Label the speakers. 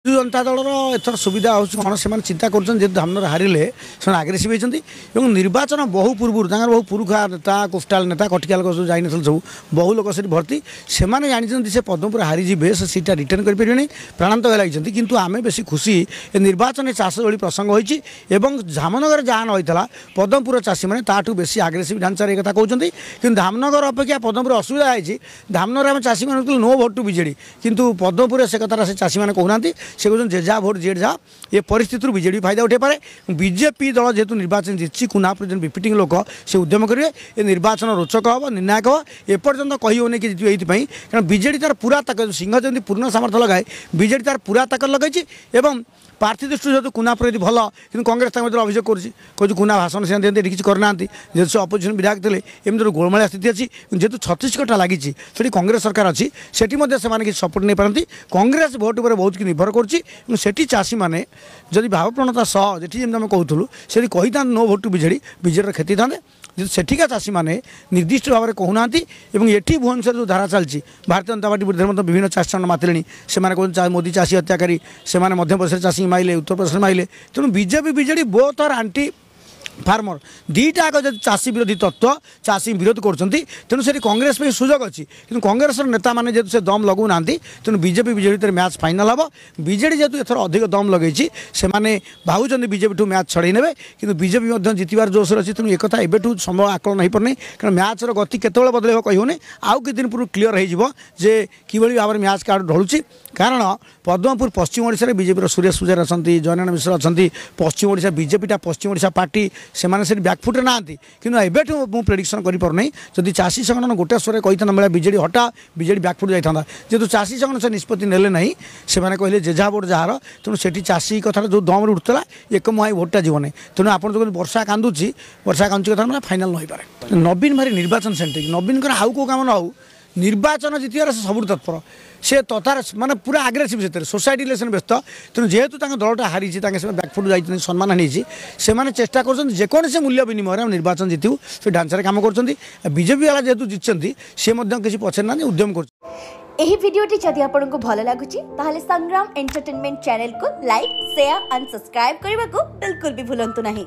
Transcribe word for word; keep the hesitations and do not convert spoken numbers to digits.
Speaker 1: ବିଜୁ ଜନତା ଦଳର ଏଥର ସୁବିଧା ହେଉଛି କ'ଣ, ସେମାନେ ଚିନ୍ତା କରୁଛନ୍ତି ଯେହେତୁ ଧାମନଗର ହାରିଲେ ସେମାନେ ଆଗ୍ରେସିଭ୍ ହେଇଛନ୍ତି ଏବଂ ନିର୍ବାଚନ ବହୁ ପୂର୍ବରୁ ତାଙ୍କର ବହୁ ପୁରୁଖା ନେତା, କୋଷ୍ଟାଲ ନେତା, କଟିକା ଲୋକ ସବୁ ଯାଇନଥିଲେ, ସବୁ ବହୁ ଲୋକ ସେଠି ଭର୍ତ୍ତି। ସେମାନେ ଜାଣିଛନ୍ତି ସେ ପଦ୍ମପୁର ହାରିଯିବେ, ସେ ସିଟ୍ଟା ରିଟର୍ନ କରିପାରିବେନି, ପ୍ରାଣାନ୍ତକ ଲାଗିଛନ୍ତି। କିନ୍ତୁ ଆମେ ବେଶୀ ଖୁସି ଏ ନିର୍ବାଚନରେ ଚାଷ ଭଳି ପ୍ରସଙ୍ଗ ହୋଇଛି ଏବଂ ଧାମନଗର ଯାହା ନ ହୋଇଥିଲା ପଦ୍ମପୁର ଚାଷୀମାନେ ତାଠୁ ବେଶୀ ଆଗ୍ରେସିଭ୍ ଢାଞ୍ଚାରେ ଏ କଥା କହୁଛନ୍ତି। କିନ୍ତୁ ଧାମନଗର ଅପେକ୍ଷା ପଦ୍ମପୁର ଅସୁବିଧା ହେଇଛି। ଧାମନଗର ଆମେ ଚାଷୀମାନେ ନୋ ଭୋଟ୍ ଟୁ ବିଜେଡ଼ି, କିନ୍ତୁ ପଦ୍ମପୁରରେ ସେ କଥାଟା ସେ ଚାଷୀମାନେ କହୁନାହାନ୍ତି। ସେ କହୁଛନ୍ତି ଯେ ଯାହା ଭୋଟ ଯିଏ ଯାହା। ଏ ପରିସ୍ଥିତିରୁ ବିଜେଡ଼ି ଫାଇଦା ଉଠାଇପାରେ। ବିଜେପି ଦଳ ଯେହେତୁ ନିର୍ବାଚନ ଜିତିଛି, କୁନାପୁର ଯେମିତି ରିପିଟିଂ ଲୋକ ସେ ଉଦ୍ୟମ କରିବେ। ଏ ନିର୍ବାଚନ ରୋଚକ ହେବ, ନିର୍ଣ୍ଣାୟକ ହେବ। ଏପର୍ଯ୍ୟନ୍ତ କହି ହେଉନି କି ଜିତିବ ଏଇଥିପାଇଁ, କାରଣ ବିଜେଡ଼ି ତାର ପୁରା ତାକତ, ସିଂହ ଯେମିତି ପୂର୍ଣ୍ଣ ସାମର୍ଥ୍ୟ ଲଗାଏ, ବିଜେଡ଼ି ତାର ପୁରା ତାକତ ଲଗାଇଛି। ଏବଂ ପ୍ରାର୍ଥୀ ଦୃଷ୍ଟିରୁ ଯେହେତୁ କୁନାପୁର ଯଦି ଭଲ, କିନ୍ତୁ କଂଗ୍ରେସ ତାଙ୍କ ଭିତରେ ଅଭିଯୋଗ କରୁଛି, କହୁଛି କୁନା ଭାଷଣ ସେ ଦିଅନ୍ତି, ଏଠି କିଛି କରିନାହାନ୍ତି, ଯେହେତୁ ସେ ଅପୋଜିସନ୍ ବିଧାୟକ ଥିଲେ, ଏମିତି ଗୋଟେ ଗୋଳମାଳିଆ ସ୍ଥିତି ଅଛି। ଯେହେତୁ ଛତିଶଗଡ଼ଟା ଲାଗିଛି, ସେଠି କଂଗ୍ରେସ ସରକାର ଅଛି, ସେଠି ମଧ୍ୟ ସେମାନେ କିଛି ସପୋର୍ଟ ନେଇପାରନ୍ତି। କଂଗ୍ରେସ ଭୋଟ ଉପରେ ବହୁତ କିଛି ନିର୍ଭର କରୁଛି। ଏବଂ ସେଠି ଚାଷୀମାନେ ଯଦି ଭାବପ୍ରବଣତା ସହ, ଯେଠି ଯେମିତି ଆମେ କହୁଥିଲୁ, ସେଠି କହିଥାନ୍ତେ ନୋ ଭୋଟ ଟୁ ବିଜେଡ଼ି, ବିଜେଡ଼ିର କ୍ଷତି ହେଇଥାନ୍ତେ। ଯେହେତୁ ସେଠିକା ଚାଷୀମାନେ ନିର୍ଦ୍ଦିଷ୍ଟ ଭାବରେ କହୁନାହାନ୍ତି ଏବଂ ଏଠି ଭୁବନେଶ୍ୱର ଯେଉଁ ଧାରା ଚାଲିଛି, ଭାରତୀୟ ଜନତା ପାର୍ଟି ବିରୁଦ୍ଧରେ ମଧ୍ୟ ବିଭିନ୍ନ ଚାଷୀ ସଂଗଠନ ମାତିଲେଣି। ସେମାନେ କହୁଛନ୍ତି ମୋଦି ଚାଷୀ ହତ୍ୟାକାରୀ, ସେମାନେ ମଧ୍ୟପ୍ରଦେଶରେ ଚାଷୀ ମାଇଲେ, ଉତ୍ତରପ୍ରଦେଶରେ ମାଇଲେ। ତେଣୁ BJP BJD both are anti farmer, ଦୁଇଟା ଆଗ ଯଦି ଚାଷୀ ବିରୋଧୀ ତତ୍ତ୍ୱ, ଚାଷୀ ବିରୋଧ କରୁଛନ୍ତି। ତେଣୁ ସେଠି କଂଗ୍ରେସ ପାଇଁ ସୁଯୋଗ ଅଛି, କିନ୍ତୁ କଂଗ୍ରେସର ନେତାମାନେ ଯେହେତୁ ସେ ଦମ୍ ଲଗାଉନାହାନ୍ତି, ତେଣୁ ବିଜେପି ବିଜେଡ଼ି ଭିତରେ ମ୍ୟାଚ୍ ଫାଇନାଲ୍ ହେବ। ବିଜେଡ଼ି ଯେହେତୁ ଏଥର ଅଧିକ ଦମ୍ ଲଗାଇଛି, ସେମାନେ ଭାବୁଛନ୍ତି ବିଜେପିଠୁ ମ୍ୟାଚ୍ ଛଡ଼େଇ ନେବେ, କିନ୍ତୁ ବିଜେପି ମଧ୍ୟ ଜିତିବାର ଜୋସରେ ଅଛି। ତେଣୁ ଏକଥା ଏବେଠୁ ସମ୍ଭବ ଆକଳନ ହୋଇପାରୁନି, କାରଣ ମ୍ୟାଚ୍ର ଗତି କେତେବେଳେ ବଦଳିବ କହିହେଉନି। ଆଉ କିଛି ଦିନ ପୂର୍ବରୁ କ୍ଲିଅର୍ ହେଇଯିବ ଯେ କିଭଳି ଭାବରେ ମ୍ୟାଚ୍ କାର୍ଡ଼ ଢଳୁଛି। କାରଣ ପଦ୍ମପୁର ପଶ୍ଚିମ ଓଡ଼ିଶାରେ ବିଜେପିର ସୁରେଶ ପୂଜାରୀ ଅଛନ୍ତି, ଜୟନାରାୟଣ ମିଶ୍ର ଅଛନ୍ତି। ପଶ୍ଚିମ ଓଡ଼ିଶା ବିଜେପିଟା ପଶ୍ଚିମ ଓଡ଼ିଶା ପାର୍ଟି, ସେମାନେ ସେଠି ବ୍ୟାକଫୁଟ୍ରେ ନାହାନ୍ତି। କିନ୍ତୁ ଏବେଠୁ ମୁଁ ପ୍ରେଡ଼ିକ୍ସନ୍ କରିପାରୁନାହିଁ। ଯଦି ଚାଷୀ ସଂଗଠନ ଗୋଟେ ସ୍ୱରରେ କହିଥାନ୍ତା ଭଳିଆ ବିଜେଡ଼ି ହଟା, ବିଜେଡ଼ି ବ୍ୟାକଫୁଟ୍ ଯାଇଥାନ୍ତା। ଯେହେତୁ ଚାଷୀ ସଂଗଠନ ସେ ନିଷ୍ପତ୍ତି ନେଲେ ନାହିଁ, ସେମାନେ କହିଲେ ଯେ ଯାହା ଭୋଟ ଯାହାର, ତେଣୁ ସେଠି ଚାଷୀ କଥାଟା ଯେଉଁ ଦମରେ ଉଠୁଥିଲା, ଏକ ମୁହାଁ ଭୋଟଟା ଯିବ ନାହିଁ। ତେଣୁ ଆପଣ ଯେଉଁ ବର୍ଷା କାନ୍ଦୁଛି, ବର୍ଷା କାନ୍ଦୁଛି କଥା ମାନେ ଫାଇନାଲ୍ ନ ହୋଇପାରେ। ନବୀନ ଭାରି ନିର୍ବାଚନ ସେଣ୍ଟ୍ରିକ୍, ନବୀନଙ୍କର ଆଉ କେଉଁ କାମ ନ ହେଉ, ନିର୍ବାଚନ ଜିତିବାରେ ସେ ସବୁଠୁ ତତ୍ପର। ସେ ତଥାର ମାନେ ପୁରା ଆଗ୍ରେସିଭ୍, ସେଥିରେ ସୋସାଇଟି ଇଲେକ୍ସନ୍ ବ୍ୟସ୍ତ। ତେଣୁ ଯେହେତୁ ତାଙ୍କ ଦଳଟା ହାରିଛି, ତାଙ୍କେ ସେମାନେ ବ୍ୟାକଫୁଟ୍ ଯାଇଛନ୍ତି, ସମ୍ମାନ ନେଇଛି, ସେମାନେ ଚେଷ୍ଟା କରୁଛନ୍ତି ଯେକୌଣସି ମୂଲ୍ୟ ବିନିମୟରେ ଆମେ ନିର୍ବାଚନ ଜିତିବୁ, ସେ ଢାଞ୍ଚାରେ କାମ କରୁଛନ୍ତି। ବିଜେପି ବାଲା ଯେହେତୁ ଜିତିଛନ୍ତି, ସେ ମଧ୍ୟ କିଛି ପଛରେ ନାହାନ୍ତି, ଉଦ୍ୟମ କରୁଛନ୍ତି।
Speaker 2: ଏହି ଭିଡ଼ିଓଟି ଯଦି ଆପଣଙ୍କୁ ଭଲ ଲାଗୁଛି, ତାହେଲେ ସଂଗ୍ରାମ ଏଣ୍ଟରଟେନମେଣ୍ଟ ଚ୍ୟାନେଲକୁ ଲାଇକ୍, ସେୟାର ଆଣ୍ଡ ସବସ୍କ୍ରାଇବ୍ କରିବାକୁ ବିଲକୁଲ ବି ଭୁଲନ୍ତୁ ନାହିଁ।